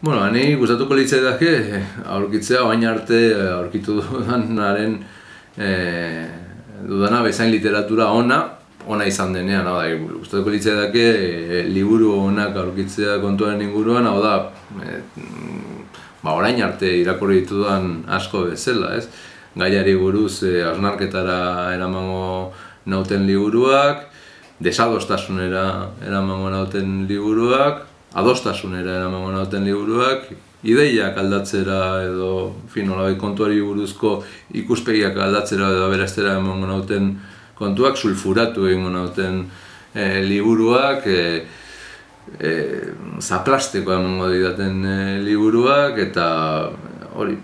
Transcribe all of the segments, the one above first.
Bueno, hani gustatuko litzaidake aurkitzea orain arte aurkitu dudanaren dudana bezain literatura ona izan denean, hau da, gustatuko litzaidake liburu onak aurkitzea kontuaren inguruan, hau da, orain arte irakurri ditudan asko bezala, ez? Gaiari buruz hausnarketara eramango nauten liburuak, desadostasunera eramango nauten liburuak, adostasunera eramango nauten liburuak, ideiak aldatzera edo nolabait kontuari buruzko ikuspegiak aldatzera edo aberastera emango nauten kontuak, sulfuratu egingo nauten liburuak, zaplasteko emango didaten liburuak, eta hori,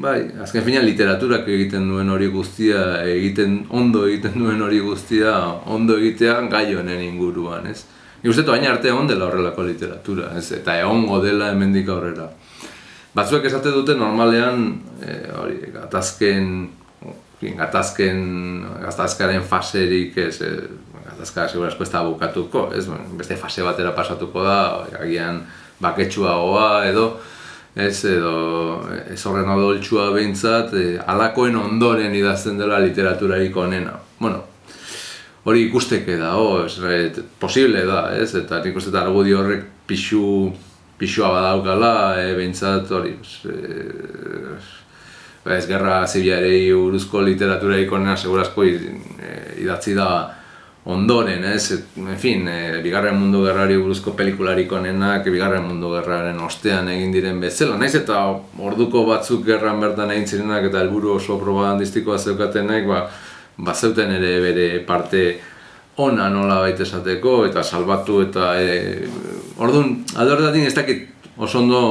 bai, azken finean literaturak egiten duen hori guztia, ondo egiten duen hori guztia, ondo egitea gai honen inguruan, ez? Nik uste dut hain arte egon dela horrelako literatura, ez? Eta egongo dela hemendik aurrera. Batzuek esate dute normalean, hori, gatazkaren faserik, ez, gatazkara segurazko ez da bukatuko, ez? Beste fase batera pasatuko da, agian baketsuagoa edo, ez horren odoltsua behintzat, halakoen ondoren idazten dela literaturarik onena. Bueno, hori ikusteke da, posible da, ez? Eta nik uste argudio horrek pixua badaukala, behintzat hori, ez gerra zibilari buruzko literaturarik onena segurazko idatzi da ondoren, ez? En fin, Bigarren Mundu Gerrari buruzko pelikularik onenak, Bigarren Mundu Gerraren ostean egin diren bezala, naiz eta orduko batzuk gerran bertan egin zirenak eta helburu oso propagandistikoa zeukatenek, bazeuten ere bere parte ona nolabait esateko eta salbatu eta orduan, alde horretatik ez dakit oso ondo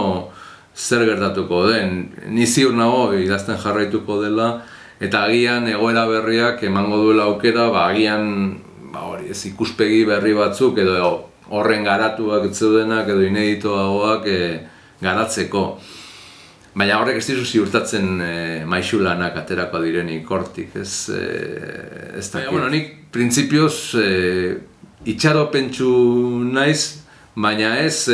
zer gertatuko den, ni ziur nago idazten jarraituko dela eta agian egoera berriak emango duela aukera, agian ez ikuspegi berri batzuk edo horren garatuak zeudenak edo ineditoagoak garatzeko. Baina horrek ez dizu ziurtatzen maisulanak aterako direnik hortik, ez dakit. Nik printzipioz itxaropentsu naiz, baina ez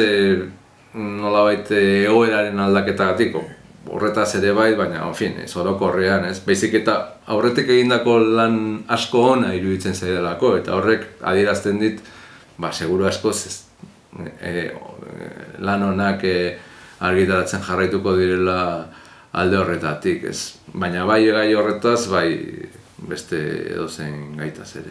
nolabait egoeraren aldaketagatik. Horretaz ere bai, baina, ez orokorrean, ez? Baizik eta aurretik egindako lan asko ona iruditzen zaidalako, eta horrek adierazten dit, seguru askoz lan onak argitaratzen jarraituko direla alde horretatik, ez? Baina bai gai horretaz, bai beste edozein gaitaz ere.